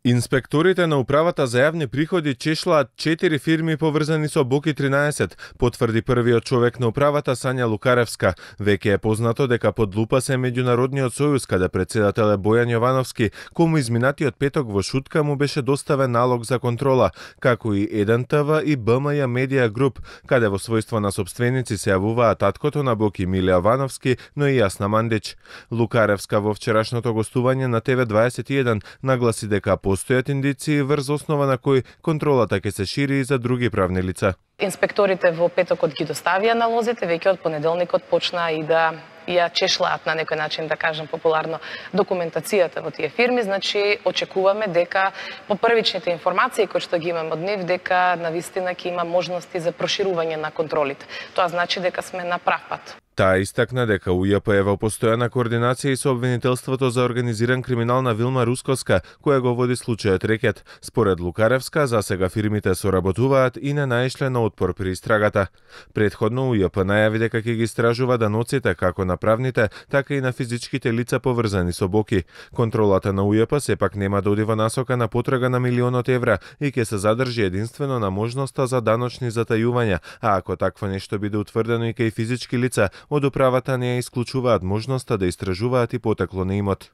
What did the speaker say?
Инспекторите на Управата за јавни приходи чешлаат 4 фирми поврзани со Боки 13, потврди првиот човек на управата Сања Лукаревска. Веќе е познато дека под лупа се Меѓународниот сојуз, каде председател е Бојан Јовановски, кому изминатиот петок во Шутка му беше доставен налог за контрола, како и 1ТВ и БМЈ Медија Груп, каде во својство на собственици се јавуваат таткото на Боки Миле Јовановски, но и Јасна Мандич. Лукаревска во вчерашното гостување на ТВ21 нагласи дека постојат индиции врз основа на кои контролата ќе се шири и за други правни лица. Инспекторите во петокот ги доставија налозите, веќе од понеделникот почнаа и да ја чешлаат на некој начин, да кажем популарно, документацијата во тие фирми. Значи, очекуваме дека по првичните информации кои што ги имаме од нив, дека навистина ќе има можности за проширување на контролите. Тоа значи дека сме на прав пат. Таа истакна дека УЈП е во постојана координација и со обвинителството за организиран криминал на Вилма Русковска, која го води случајот рекет. Според Лукаревска, засега фирмите соработуваат и не наишле на отпор при истрагата. Предходно УЈП најави дека ќе ги истражува даноците како на правните, така и на физичките лица поврзани со Боки. Контролата на УЈП сепак нема да оди во насока на потрага на милионот евра и ќе се задржи единствено на можноста за даночни затајувања, а ако такво нешто биде утврдено и кај физички лица, од управата не ја исклучуваат можноста да истражуваат и потекло на имот.